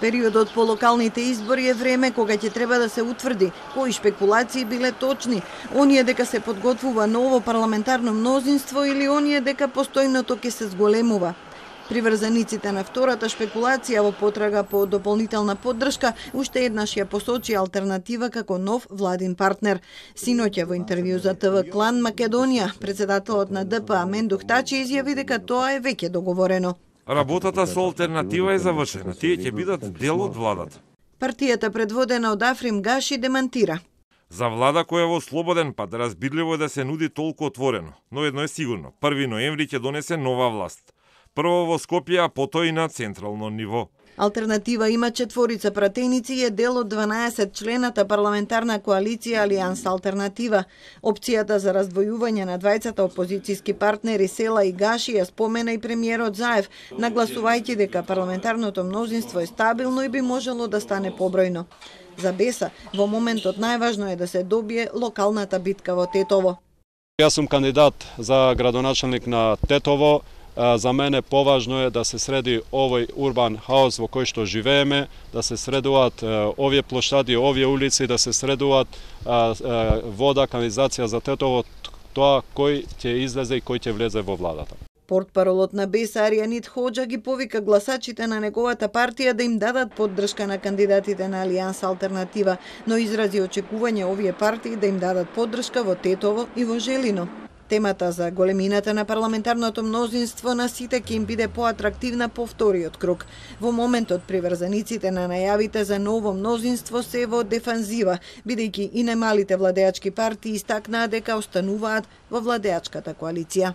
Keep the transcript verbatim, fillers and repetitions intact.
Периодот по локалните избори е време кога ќе треба да се утврди кои шпекулации биле точни, оние дека се подготвува ново парламентарно мнозинство или оние дека постојното ќе се зголемува. Приврзаниците на втората шпекулација во потрага по дополнителна поддршка уште еднаш ја посочи алтернатива како нов владин партнер. Синоќа во интервју за ТВ Клан Македонија, председателот на Д П Амендух Тачи изјави дека тоа е веќе договорено. Работата со алтернатива е завршена. Тие ќе бидат дел од владата. Партијата предводена од Африм Гаши демантира. За влада која во слободен пат разбирливо е да се нуди толку отворено, но едно е сигурно, први ноември ќе донесе нова власт. Прво во Скопје, а потоа и на централно ниво. Алтернатива има четворица пратеници и е дел од дванаесет члената парламентарна коалиција Алијанс Алтернатива. Опцијата за раздвојување на двајцата опозицијски партнери Села и Гаши ја спомена и премиерот Заев, нагласувајќи дека парламентарното мнозинство е стабилно и би можело да стане побројно. За Беса, во моментот најважно е да се добие локалната битка во Тетово. Јас сум кандидат за градоначелник на Тетово. За мене поважно е да се среди овој урбан хаос во кој што живееме, да се средуваат овие плоштади, овие улици, да се средуваат вода, канализација за Тетово, тоа кој ќе излезе и кој ќе влезе во владата. Портпаролот на Беса Аријанит Хоџа ги повика гласачите на неговата партија да им дадат поддршка на кандидатите на Алијанс Алтернатива, но изрази очекување овие партии да им дадат поддршка во Тетово и во Желино. Темата за големината на парламентарното мнозинство на сите ќе им биде поатрактивна по вториот круг. Во моментот приврзаниците на најавите за ново мнозинство се во дефанзива, бидејќи и најмалите владеачки партии истакнаа дека остануваат во владеачката коалиција.